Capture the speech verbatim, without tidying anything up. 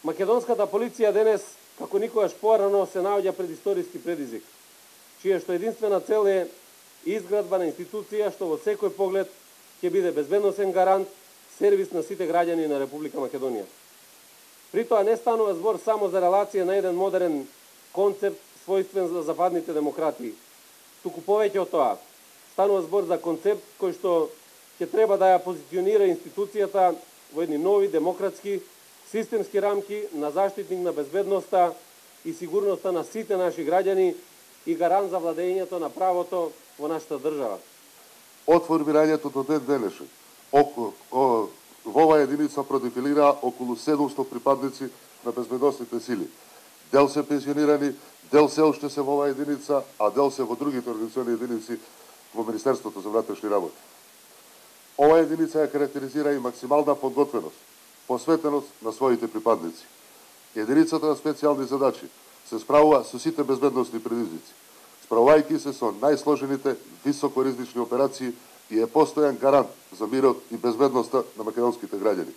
Македонската полиција денес, како никогаш порано, се наоѓа пред историски предизвик, чија што единствена цел е изградба на институција што во секој поглед ќе биде безбедносен гарант, сервис на сите граѓани на Република Македонија. При тоа не станува збор само за релација на еден модерен концепт својствен за западните демократии. Туку повеќе од тоа, станува збор за концепт кој што ќе треба да ја позиционира институцијата во едни нови демократски системски рамки на заштитник на безбедноста и сигурноста на сите наши граѓани и гарант за владењето на правото во нашата држава. Од формирањето до ден денешен, околу, о, во оваа единица продефилира околу седумстотини припадници на безбедносните сили. Дел се пензионирани, дел се уште се во оваа единица, а дел се во другите организациони единици во Министерството за внатрешни работи. Оваа единица ја карактеризира и максимална подготвеност, посветеност на своите припадници. Единицата на специјални задачи се справува со сите безбедносни предизвици, справувајќи се со најсложените високоризични операции и е постојан гарант за мирот и безбедноста на македонските граѓани.